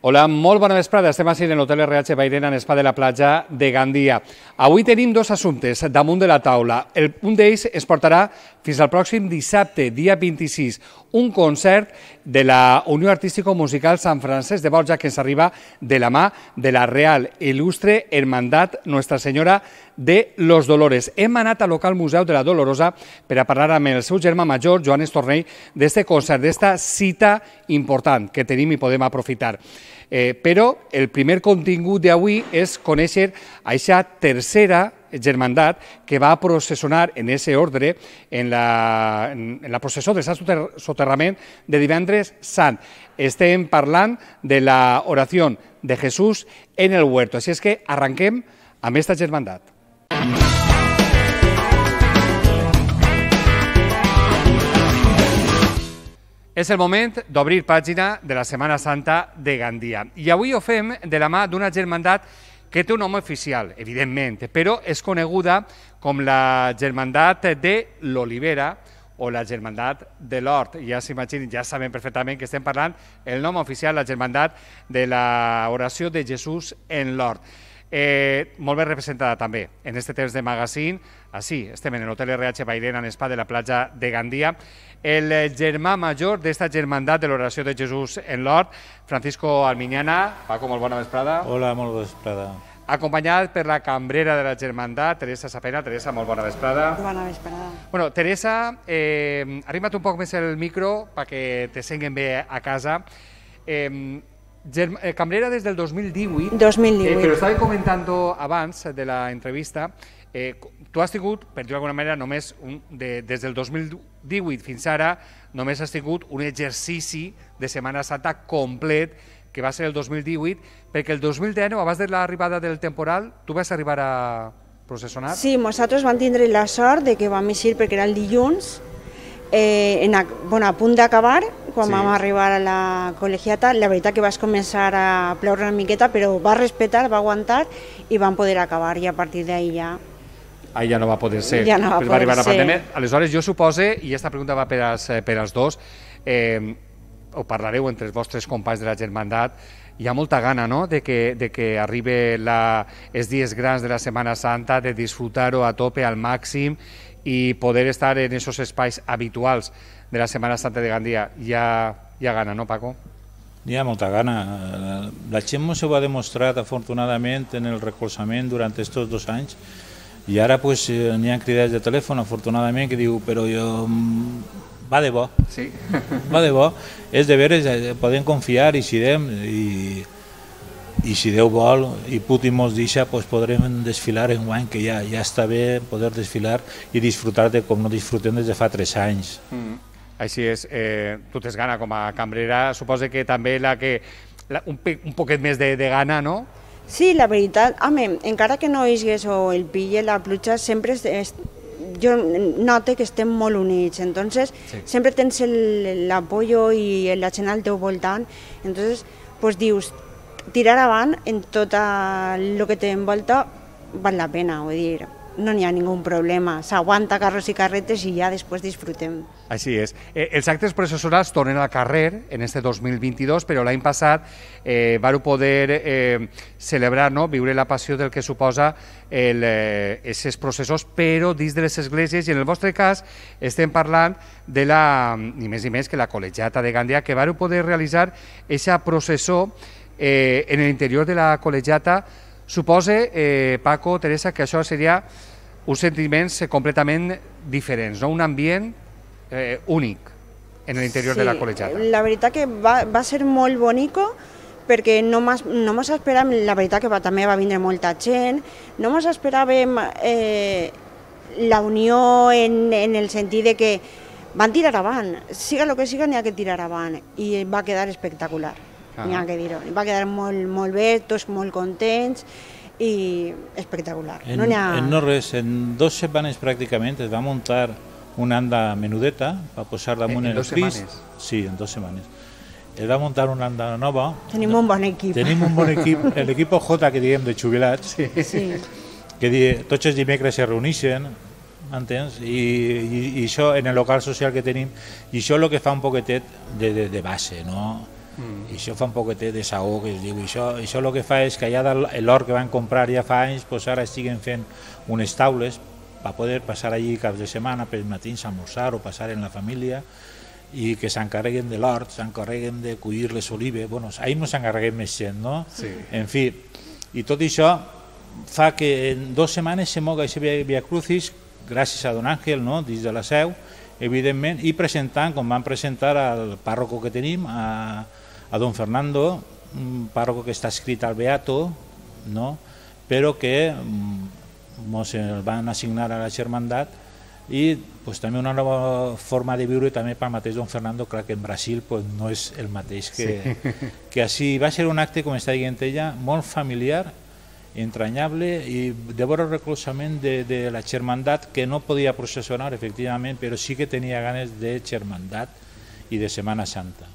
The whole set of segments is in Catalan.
Hola, molt bona vesprada. Estem així en l'Hotel RH Bairena, en Spa de la Platja de Gandia. Avui tenim dos assumptes damunt de la taula. Un d'ells es portarà fins al pròxim dissabte, dia 26, un concert de la Unió Artístico-Musical Sant Francesc de Borja que ens arriba de la mà de la Real Il·lustre Hermandat Nuestra Senyora de los Dolores. Hem anat al local Museu de la Dolorosa per a parlar amb el seu germà major, Joan Estornell, d'este concert, d'esta cita important que tenim i podem aprofitar. Però el primer contingut d'avui és conèixer aquesta tercera germandat que va processionar en aquest ordre en la processó de Sant Soterrament de divendres sant. Estem parlant de la oració de Jesús en el huerto. Així és que arranquem amb aquesta germandat. És el moment d'obrir pàgina de la Setmana Santa de Gandia. I avui ho fem de la mà d'una germandat que té un nom oficial, evidentment, però és coneguda com la Germandat de l'Olivera o la Germandat de l'Hort. Ja s'imaginen, ja saben perfectament que estem parlant el nom oficial, la Germandat de l'Oració de Jesús en l'Hort. Molt ben representada també en aquest temps de magazine. Així, estem en l'Hotel RH Bairena, en Spa de la Platja de Gandia. El germà major d'esta germandat de l'Oració de Jesús en l'Hort, Francisco Almiñana. Paco, molt bona vesprada. Hola, molt bona vesprada. Acompanyat per la cambrera de la germandat, Teresa Sapena. Teresa, molt bona vesprada. Bona vesprada. Bueno, Teresa, arrima't un poc més el micro perquè te senguen bé a casa. Cambrera des del 2018. 2018. Però estava comentant abans de la entrevista, tu has tingut, per dir-ho d'alguna manera, només des del 2018 fins ara, només has tingut un exercici de Setmana Santa complet, que va ser el 2018, perquè el 2019, abans de l'arribada del temporal, tu vas arribar a processionar? Sí, nosaltres vam tindre la sort de que vam eixir perquè era el dilluns, a punt d'acabar, quan vam arribar a la col·legiata. La veritat que vas començar a ploure una miqueta, però va respectar, va aguantar i vam poder acabar, i a partir d'ahir ja... Ahir ja no va poder ser. Ja no va poder arribar ser. La pandèmia. Aleshores, jo supose, i aquesta pregunta va per als dos, ho parlareu entre els vostres companys de la germandat, hi ha molta gana, no?, de que arribi els dies grans de la Setmana Santa, de disfrutar-ho a tope, al màxim, i poder estar en aquests espais habituals de la Setmana Santa de Gandia. Hi ha gana, no, Paco? Hi ha molta gana. La gent ens ho ha demostrat, afortunadament, en el recolzament durant aquests 2 anys, i ara n'hi ha cridats de telèfon, afortunadament, que diu, però jo... va de bo. Sí. Va de bo. És de veres, podem confiar i sidem, i si Déu vol i Putin mos deixa, podrem desfilar en guany, que ja està bé poder desfilar i disfrutar de com no disfrutem des de fa 3 anys. Així és, tu tens gana com a cambrera, suposo que també un poquet més de gana, no? Sí, la veritat, home, encara que no hagués o el pille, la pluja, sempre jo noto que estem molt units, entonces sempre tens l'apoyo i la gent al teu voltant, entonces dius, tirar avant en tot el que t'envolta val la pena, vull dir, no n'hi ha ningú problema, s'aguanta carros i carretes i ja després disfrutem. Així és. Els actes processionals tornen al carrer en este 2022, però l'any passat vau poder celebrar, viure la passió del que suposa aquests processos, però dins de les esglésies, i en el vostre cas estem parlant de ni més ni menys que la col·legiata de Gandia, que vau poder realitzar aquesta processó en l'interior de la col·legiata. Supose, Paco, Teresa, que això seria uns sentiments completament diferents, un ambient únic en l'interior de la col·legiata. La veritat que va ser molt bonico, perquè no mos esperàvem, la veritat que també va vindre molta gent, no mos esperàvem la unió en el sentit de que van tirar avant, siga el que siga n'hi ha que tirar avant, i va quedar espectacular. N'hi ha que dir-ho. Va quedar molt bé, tots molt contents i espectacular. No res, en 2 setmanes pràcticament es va muntar una anda menudeta per posar damunt el Crist. Sí, en 2 setmanes. Es va muntar una anda nova. Tenim un bon equip. Tenim un bon equip, l'equip J, que diem, de jubilats, que tots els dimecres se reuneixen, entens? I això en el local social que tenim, i això és el que fa un poquetet de base, no? I això fa un poquetet de saó, que es diu. Això el que fa és que allà l'hort que van comprar ja fa anys, doncs ara estiguen fent unes taules per poder passar allí caps de setmana, per matins a almorzar o passar en la família, i que s'encarreguen de l'hort, s'encarreguen de collir les olives. Bueno, ahir no s'encarreguem més gent, no? Sí. En fi, i tot això fa que en 2 setmanes se moga aquest Via Crucis, gràcies a Don Àngel, no?, dins de la seu, evidentment, i presentant, com van presentar al pàrroco que tenim, a Don Fernando, un pàrroco que està escrit al Beato, no?, però que ens el van assignar a la Germandat, i pues, també una nova forma de viure també pel mateix Don Fernando. Clar que en Brasil pues, no és el mateix que així. Va ser un acte, com està dient ella, molt familiar, entranyable, i de veure el recolzament de la Germandat, que no podia processionar, efectivament, però sí que tenia ganes de Germandat i de Setmana Santa.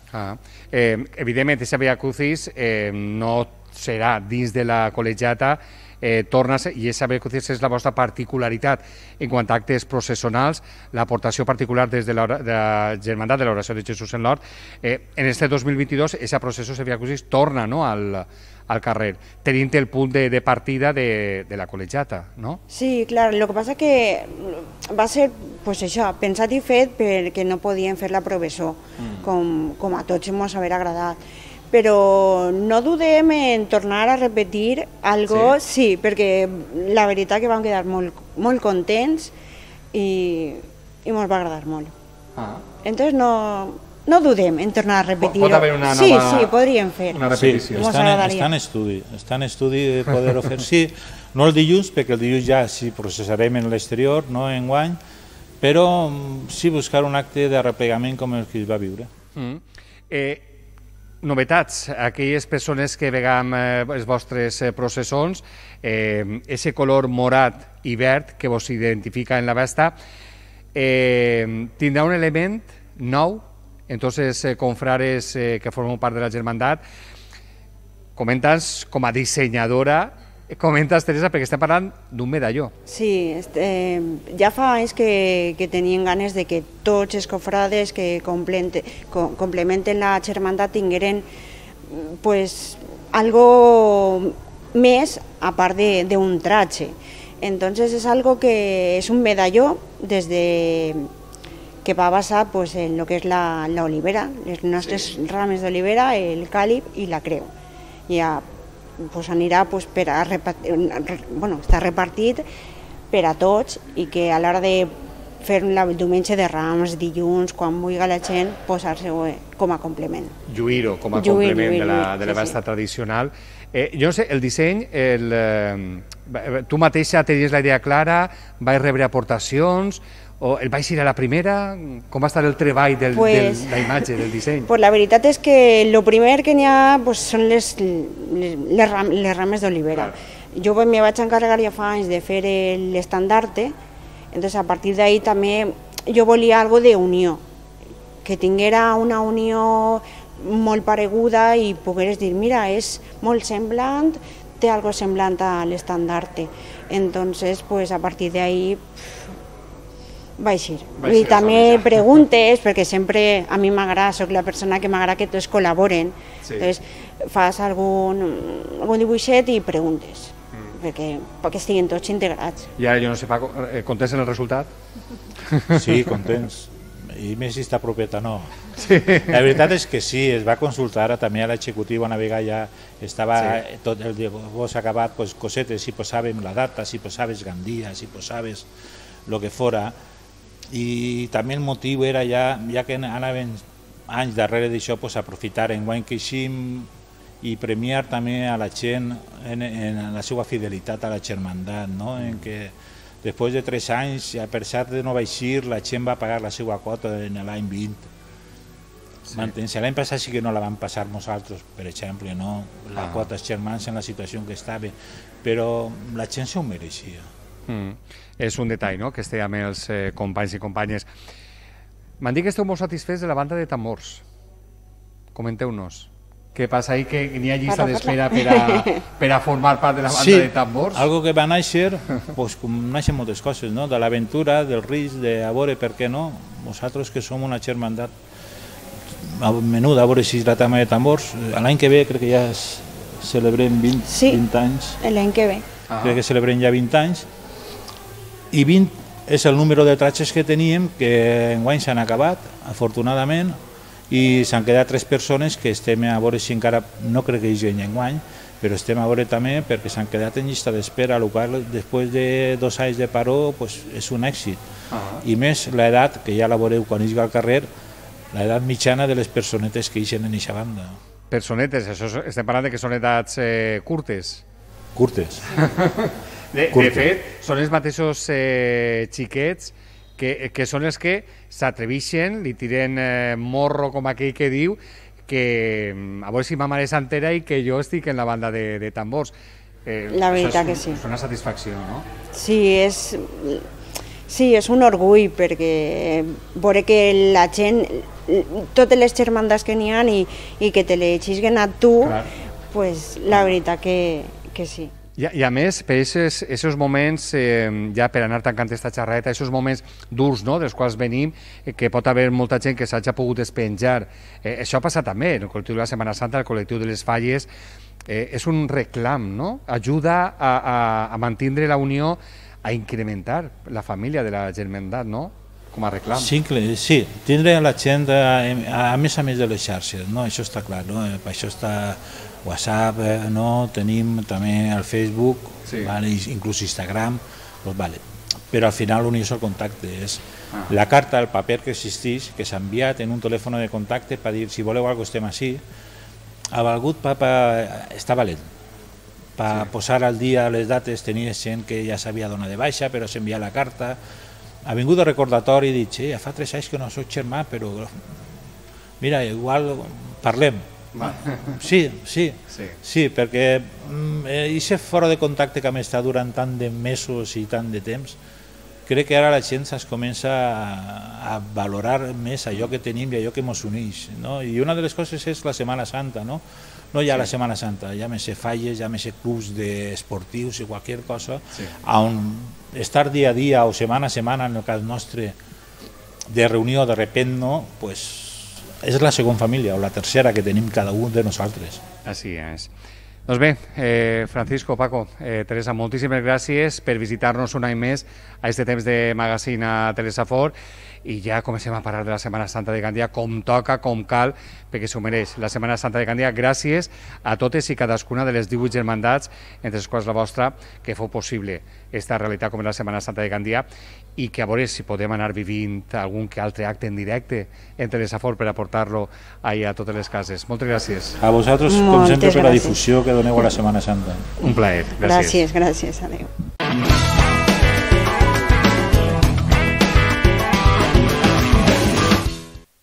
Evidentment, aquesta Via Crucis no serà dins de la col·legiata, torna a ser, i aquesta Via Crucis és la vostra particularitat en quant a actes processionals, l'aportació particular des de la Germandat de l'Oració de Jesús en l'Hort. En este 2022, aquesta processió de Via Crucis torna, no?, al carrer, tenint el punt de partida de la col·legiata, no? Sí, clar, el que passa que va ser pues això, pensat i fet perquè no podien fer la professó, com a tots ens haver agradat. Però no dudem en tornar a repetir algo, sí, perquè la veritat que vam quedar molt contents i ens va agradar molt. Entonces no dudem en tornar a repetir-ho. Pot haver una nova... Sí, podríem fer. Una repetició. Sí, està en estudi de poder-ho fer. Sí, no el dilluns, perquè el dilluns ja sí processarem en l'exterior, no enguany, però sí buscar un acte de replegament com el que es va viure. Novetats, aquelles persones que vegam les vostres processons, ese color morat i verd que vos identifica en la vesta, tindrà un element nou en tots els confrares que formen part de la Germandat. Comentes com a dissenyadora, comentes, Teresa, perquè estem parlant d'un medalló. Sí, ja fa anys que tenien ganes de que tots els confrades que complementen la Germandat tingueren pues, algo més a part d'un tratge. Entonces es algo que es un medalló desde que va basar pues, en lo que es la olivera, les nostres rames d'olivera, el càlib i la creu. Ja pues, anirà pues, està repartit per a tots i que a l'hora de fer el diumenge de Rams, dilluns, quan vulgui la gent, posar-se com a complement. Lluir-ho com a complement de la festa tradicional. Jo no sé, el disseny, tu mateixa tenies la idea clara, vais rebre aportacions, o el vais ir a la primera? Com va estar el treball de la imatge, del disseny? La veritat és que el primer que n'hi ha són les rames d'olivera. Jo me vaig encarregar ja fa anys de fer l'estandarte, entonces a partir d'ahí també jo volia algo d'unió, que tinguera una unió molt pareguda i pogueres dir, mira, és molt semblant, té algo semblant a l'estandarte. Entonces, pues a partir d'ahí va així. I també preguntes, perquè sempre a mi m'agrada, soc la persona que m'agrada que tots col·laboren. Entonces, fas algun dibuixet i preguntes, perquè estiguin tots integrats. I ara, jo no sé, Paco, contents en el resultat? Sí, contents. I més si està propeta, no. La veritat és que sí, es va consultar també a l'executiu, una vegada ja estava tot el dibuix acabat, cosetes, si posàvem la data, si posaves Gandia, si posaves el que fora, i també el motiu era ja que anaven anys darrere d'això, aprofitar enguany que eixim i premiar també a la gent en la seva fidelitat a la Germandat, en què després de 3 anys, a pesar de no baixir, la gent va pagar la seva quota en l'any 20. L'any passat sí que no la vam passar nosaltres, per exemple, la quota germans en la situació en què estava, però la gent s'ho mereixia. És un detall, no?, que estiguem amb els companys i companyes. M'han dit que esteu molt satisfets de la banda de tambors. Comenteu-nos. Què passa ahí, que n'hi ha llista d'espera per a formar part de la banda de tambors? Sí, algo que va néixer, com naixen moltes coses, de l'aventura, del risc, de a veure per què no. Nosaltres que som una germandat, menuda, a veure si la tama de tambors. L'any que ve crec que ja celebrem 20 anys. Sí, l'any que ve. Crec que celebrem ja 20 anys. I 20 és el número de tratges que teníem, que enguany s'han acabat, afortunadament, i s'han quedat 3 persones que estem a veure si encara, no crec que hi hagi enguany, però estem a veure també perquè s'han quedat en llista d'espera, el qual després de 2 anys de paró és un èxit. I més l'edat, que ja la veureu quan hi al carrer, l'edat mitjana de les personetes que hi en aquesta banda. Personetes, això estem parlant que són edats curtes. Curtes. De fet, són els mateixos xiquets que són els que s'atreveixen, li tiren morro com aquell que diu, que a veure si ma mare s'entera i que jo estic en la banda de tambors. La veritat que sí. És una satisfacció, no? Sí, és un orgull, perquè veure que la gent, totes les germandats que n'hi ha i que te les xisguen a tu, pues, la veritat que sí. I a més, per aquests moments, ja per anar tancant aquesta xerreta, aquests moments durs, no?, dels quals venim, que pot haver molta gent que s'hagi pogut despenjar. Això ha passat també, el col·lectiu de la Setmana Santa, el col·lectiu de les Falles, és un reclam, no? Ajuda a mantenir la unió, a incrementar la família de la germandat, no?, com a reclam. Sí, tindre la gent, a més de les xarxes, no? Això està clar, no? Per això està WhatsApp, no? Tenim també el Facebook, inclús Instagram, però al final l'unió és el contacte, és la carta, el paper que existeix, que s'ha enviat en un telèfon de contacte per dir si voleu alguna cosa estem així. Ha valgut està valent, per posar al dia les dates. Tenia gent que ja s'havia donat de baixa però s'envia la carta, ha vingut el recordatori i dit, ja fa 3 anys que no soc germà, però mira, igual parlem. Sí, perquè aquest fora de contacte que m'està durant tant de mesos i tant de temps, crec que ara la gent es comença a valorar més allò que tenim i allò que ens uneix, no? I una de les coses és la Setmana Santa, no? No hi ha la Setmana Santa, hi ha més falles, hi ha més clubs esportius i qualsevol cosa, on estar dia a dia o setmana a setmana, en el cas nostre, de reunió de repent, no? Pues és la segona família o la tercera que tenim cada un de nosaltres. Així és. Doncs bé, Francisco, Paco, Teresa, moltíssimes gràcies per visitar-nos un any més a aquest temps de magazine a Telesafor i ja comencem a parlar de la Setmana Santa de Gandia com toca, com cal, perquè s'ho mereix. La Setmana Santa de Gandia, gràcies a totes i cadascuna de les 18 germandats, entre les quals la vostra, que fou possible aquesta realitat com és la Setmana Santa de Gandia i que a veure si podem anar vivint algun que altre acte en directe en Telesafor per aportar-lo a totes les cases. Moltes gràcies. A vosaltres, com sempre, per la difusió que doneu a la Setmana Santa. Un plaer. Gràcies. Gràcies. Adéu.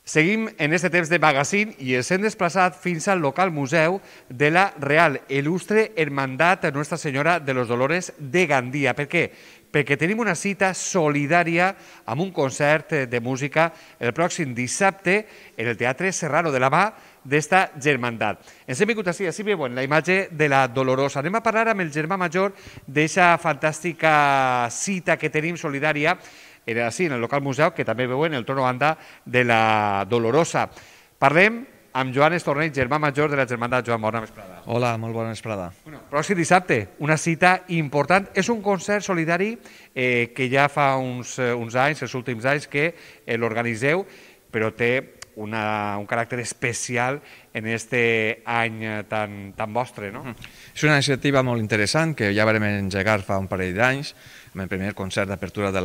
Seguim en aquest temps de magazine i ens hem desplaçat fins al local museu de la Real Il·lustre Hermandat Nuestra Senyora de los Dolores de Gandia. Per què? Perquè tenim una cita solidària amb un concert de música el pròxim dissabte en el Teatre Serrano de la mà d'esta germandat. Ens hem vingut així veuen la imatge de la Dolorosa. Anem a parlar amb el germà major d'aquesta fantàstica cita que tenim solidària era així, en el local museu, que també veuen el torno banda de la Dolorosa. Parlem amb Joan Estornell, germà major de la germandat. Joan, bona vesprada. Hola, molt bona vesprada. Pròxim dissabte, una cita important. És un concert solidari que ja fa uns anys, els últims anys, que l'organitzeu, però té un caràcter especial en aquest any tan vostre, no? És una iniciativa molt interessant que ja vam engegar fa un parell d'anys, amb el primer concert d'apertura de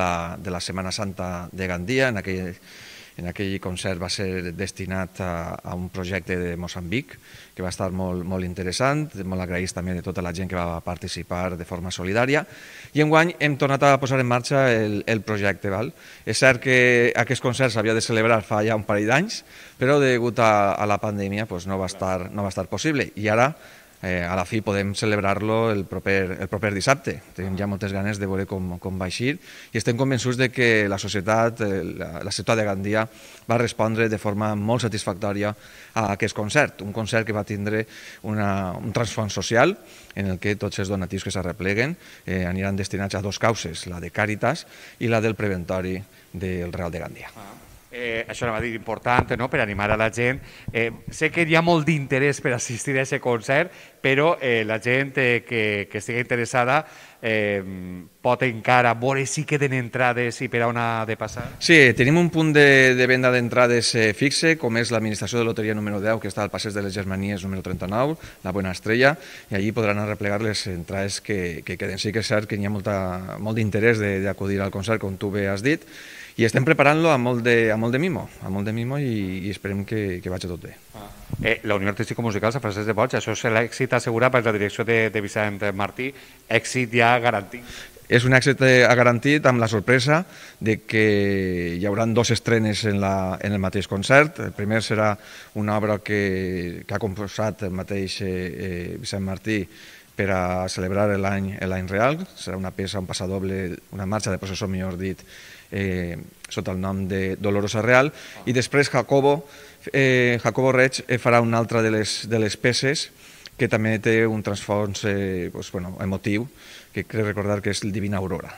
la Setmana Santa de Gandia. En aquell concert va ser destinat a un projecte de Moçambic que va estar molt interessant, molt agraïts també de tota la gent que va participar de forma solidària, i enguany hem tornat a posar en marxa el projecte. És cert que aquest concert s'havia de celebrar fa ja un parell d'anys, però degut a la pandèmia no va estar possible, i ara a la fi podem celebrar-lo el proper dissabte. Tenim ja moltes ganes de veure com va eixir i estem convençuts que la societat, la ciutat de Gandia, va respondre de forma molt satisfactòria a aquest concert, un concert que va tindre un transfons social en el que tots els donatius que s'arrepleguen aniran destinats a 2 causes, la de Càritas i la del Preventori del Real de Gandia. Això anava a dir important, no?, per animar a la gent. Sé que hi ha molt d'interès per assistir a aquest concert, però la gent que estigui interessada pot encara veure si queden entrades i per on ha de passar. Sí, tenim un punt de venda d'entrades fixe, com és l'administració de loteria número 10, que està al passeig de les Germanies número 39, la Buena Estrella, i allí podran arreplegar les entrades que queden. Sí que és cert que hi ha molt d'interès d'acudir al concert, com tu bé has dit, i estem preparant-lo amb molt de mimo i esperem que vagi tot bé. La Unió Artística Musical Sant Francesc de Boig, això és l'èxit assegurat per la direcció de Vicent Martí, èxit ja garantit. És un èxit garantit amb la sorpresa de que hi haurà 2 estrenes en el mateix concert. El primer serà una obra que ha composat el mateix Vicent Martí per a celebrar l'any real. Serà una peça, un passadoble, una marxa de processó, millor dit, sota el nom de Dolorosa Real, i després Jacobo Reig farà una altra de les peces que també té un transfons emotiu, que crec recordar que és el Divina Aurora.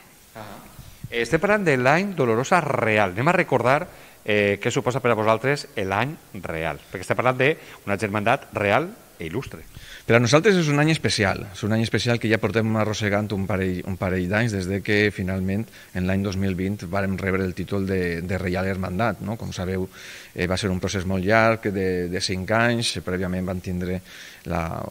Estem parlant de l'any Dolorosa Real. Anem a recordar què suposa per a vosaltres l'any real, perquè estem parlant d'una germandat real i il·lustre. Per a nosaltres és un any especial que ja portem arrossegant un parell d'anys des que finalment en l'any 2020 vàrem rebre el títol de Reial Hermandat. Com sabeu, va ser un procés molt llarg de 5 anys, prèviament van tindre la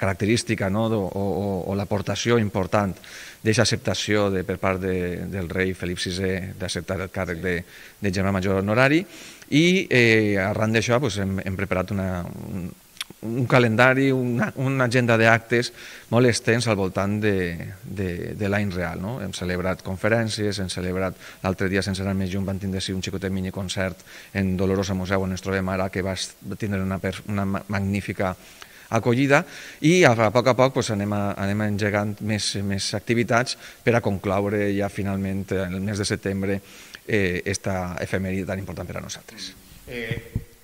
característica o l'aportació important d'aquesta acceptació per part del rei Felip VI d'acceptar el càrrec de germà major honorari, i arran d'això hem preparat un calendari, una agenda d'actes molt extens al voltant de l'any real. Hem celebrat conferències, hem celebrat l'altre dia, sense anar més lluny, van tindre un xicotet miniconcert en Dolorosa Museu, on ens trobem ara, que va tindre una magnífica acollida, i a poc anem engegant més activitats per a concloure ja finalment el mes de setembre esta efemèride tan important per a nosaltres.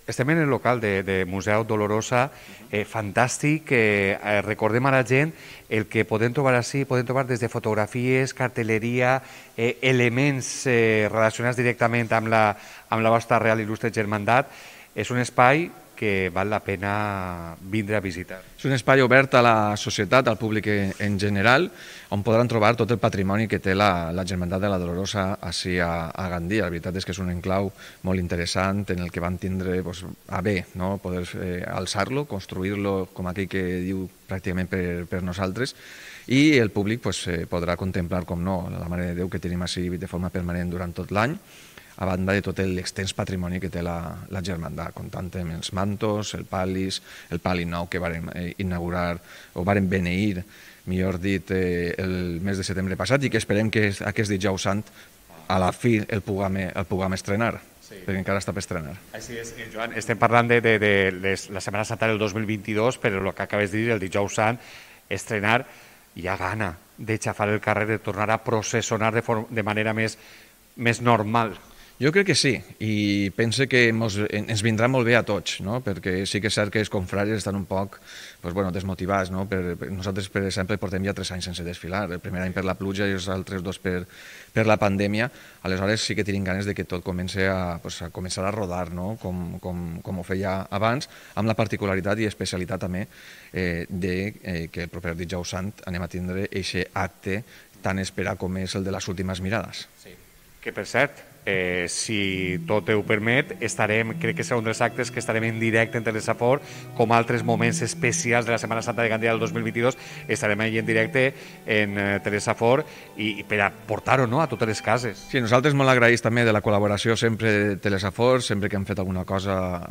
Estem en el local de Museu Dolorosa, fantàstic. Recordem a la gent el que podem trobar ací, podem trobar des de fotografies, cartelleria, elements relacionats directament amb la vostra Real Il·lustre Germandat. És un espai que val la pena vindre a visitar. És un espai obert a la societat, al públic en general, on podran trobar tot el patrimoni que té la Germandat de la Dolorosa ací a Gandia. La veritat és que és un enclau molt interessant en el que van tindre a bé poder alçar-lo, construir-lo, com aquell que diu, pràcticament per nosaltres, i el públic podrà contemplar, com no, la Mare de Déu que tenim ací de forma permanent durant tot l'any, a banda de tot l'extens patrimoni que té la Germandat, comptant amb els mantos, el pal·li nou que vàrem inaugurar, o vàrem beneir, millor dit, el mes de setembre passat, i que esperem que aquest dijous sant, a la fi, el puguem estrenar, perquè encara està per estrenar. Així és, Joan, estem parlant de la Setmana Santa del 2022, però el que acabes de dir, el dijous sant, estrenar, hi ha gana de xafar el carrer, de tornar a processionar de manera més normal. Jo crec que sí, i pense que ens vindrà molt bé a tots, perquè sí que és cert que els confrares estan un poc desmotivats. Nosaltres, per exemple, portem ja 3 anys sense desfilar, el primer any per la pluja i els altres 2 per la pandèmia. Aleshores sí que tenim ganes de que tot comenci a rodar, com ho feia abans, amb la particularitat i especialitat també que el proper dijous sant anem a tindre aquest acte tan esperat com és el de les últimes mirades. Que, per cert, si tot ho permet, crec que serà un dels actes que estarem en directe en Telesafor, com altres moments especials de la Setmana Santa de Gandia del 2022, estarem allà en directe en Telesafor i per a portar-ho a totes les cases. Sí, nosaltres molt agraïts també de la col·laboració sempre de Telesafor, sempre que hem fet alguna cosa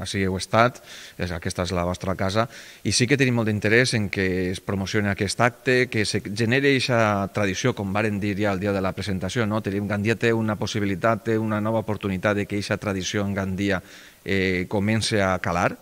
així heu estat, aquesta és la vostra casa, i sí que tenim molt d'interès en que es promocioni aquest acte, que se generi aquesta tradició, com varen dir ja el dia de la presentació, Gandia té una possibilitat, té una nova oportunitat de que aquesta tradició en Gandia comenci a calar,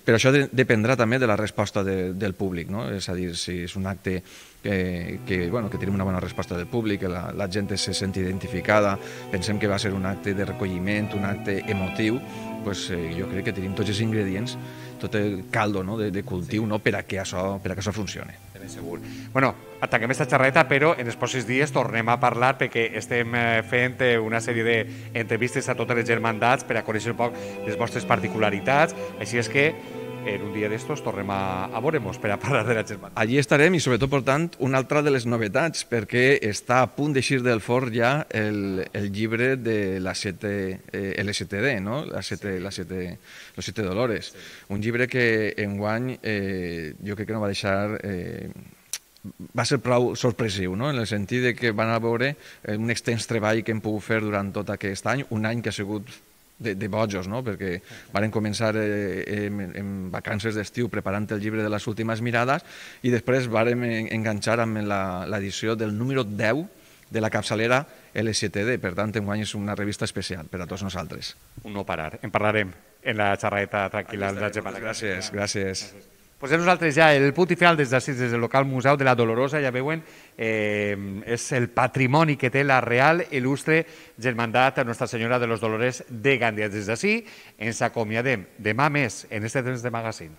però això dependrà també de la resposta del públic, és a dir, si és un acte que tenim una bona resposta del públic, que la gent se sent identificada, pensem que va ser un acte de recolliment, un acte emotiu, pues, jo crec que tenim tots els ingredients, tot el caldo, no, de cultiu, no, per a que això funcioni. Ben segur. Bueno, tanquem aquesta xerreta, però en els pròxims dies tornem a parlar perquè estem fent una sèrie d'entrevistes a totes les germandats per a conèixer un poc les vostres particularitats, així és que en un dia d'estos tornem a veure-nos per a parlar de la germandad. Allí estarem i sobretot portant una altra de les novetats, perquè està a punt d'eixir del forn ja el llibre de la LSTD, no? Los Siete Dolores. Un llibre que enguany jo crec que no va deixar... va ser prou sorpresiu, no? En el sentit de que van a veure un extens treball que hem pogut fer durant tot aquest any, un any que ha sigut de bojos, no? Perquè van començar en vacances d'estiu preparant el llibre de les últimes mirades i després vàrem enganxar amb l'edició del número 10 de la capçalera LSTD. Per tant, enguany és una revista especial per a tots nosaltres. Un no parar. En parlarem en la xerreta tranquil·la. Gràcies. Posem nosaltres ja el punt i final des del local Museu de la Dolorosa, ja veuen, és el patrimoni que té la Real Il·lustre Germandat Nostra Senyora de los Dolores de Gàndia. Des d'ací ens acomiadem demà més en este temps de magazine.